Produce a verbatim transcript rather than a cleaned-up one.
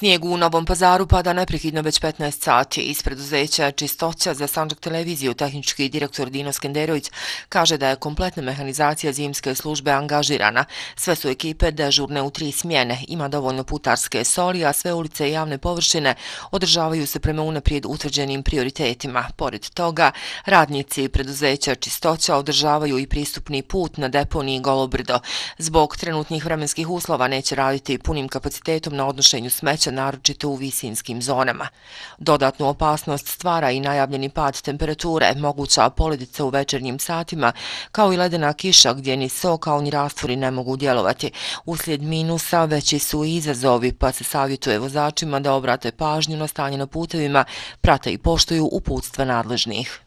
Snijeg u Novom Pazaru pada neprekidno već petnaest sati. Iz preduzeća Čistoća za Sandžak televiziju tehnički direktor Dino Skenderović kaže da je kompletna mehanizacija zimske službe angažirana. Sve su ekipe dežurne u tri smjene, ima dovoljno putarske soli, a sve ulice i javne površine održavaju se prema unaprijed utvrđenim prioritetima. Pored toga, radnici preduzeća Čistoća održavaju i pristupni put na deponiji Golo Brdo. Zbog trenutnih vremenskih uslova neće raditi punim kapacitetom na odnošenju smeća, naročito u visinskim zonama. Dodatnu opasnost stvara i najavljeni pad temperature, moguća poledica u večernjim satima, kao i ledena kiša gdje ni so kao ni rastvori ne mogu djelovati. Uslijed minusa veći su i izazovi, pa se savjetuje vozačima da obrate pažnju na stanje na putevima, prate i poštuju uputstva nadležnih.